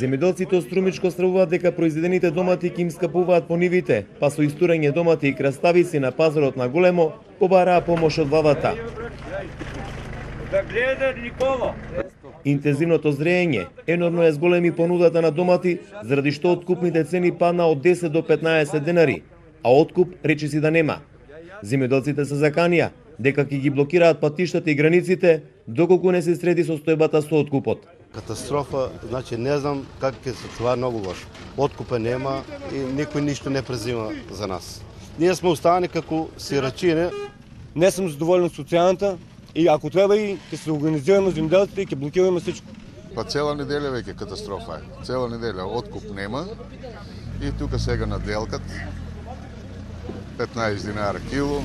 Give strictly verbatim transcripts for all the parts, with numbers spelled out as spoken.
Земјоделците од Струмичко стравуваат дека произведените домати ќе им скапуваат по нивите, па со истурење домати и краставици на пазарот на големо побараа помош од владата. Да гледа никого. Интензивното зреење енормно е зголеми понудата на домати, заради што откупните цени падна од десет до петнаесет денари, а откуп речиси да нема. Земјоделците се заканија дека ќе ги блокираат патиштата и границите доколку не се среди состојбата со откупот. Катастрофа, значи не знам как ќе се, това е многу лошо. Откупа нема и никој ништо не презима за нас. Ние сме останали како сирачине. Не сум задоволен со цената и ако треба и ќе се организираме земјоделците и ќе блокираме всичко. Па цела неделја веќе катастрофа е. Цела неделја откуп нема и тука сега наделкат петнаесет динара кило,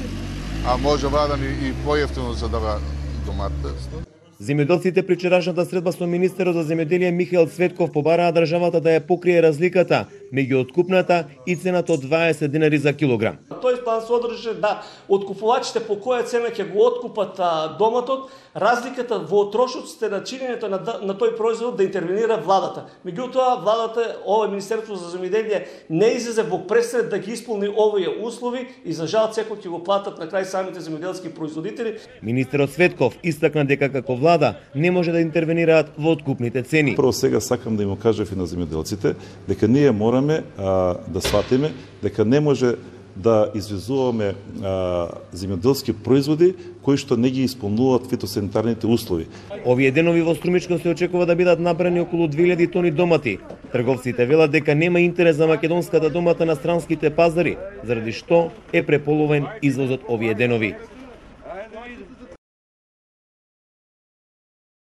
а може вадан и поевтино за да доматите. Земјоделците при вчерашната средба со министерот за земјоделие Михаил Цветков побараа државата да ја покрие разликата меѓу откупната и цената од дваесет динари за килограм. Тој план содржи да откупувачите по која цена ќе го откупат а, доматот, разликата во трошоците на чинењето на, на тој производ да интервенира владата. Меѓутоа владата, ова Министерство за земјоделие не излезе во пресред да ги исполни овие услови и за жал секој ќе го платат на крај самите земјоделски производители. Министерот Цветков истакна дека како влада не може да интервенираат во откупните цени. Прво сега сакам да им кажав и на земјоделците дека ние мораме а, да сватиме дека не може да извезуваме а, земјоделски производи кои што не ги исполнуваат фитосанитарните услови. Овие денови во Струмичко се очекува да бидат набрани околу две илјади тони домати. Трговците велат дека нема интерес за македонската домата на странските пазари, заради што е преполовен извозот овие денови.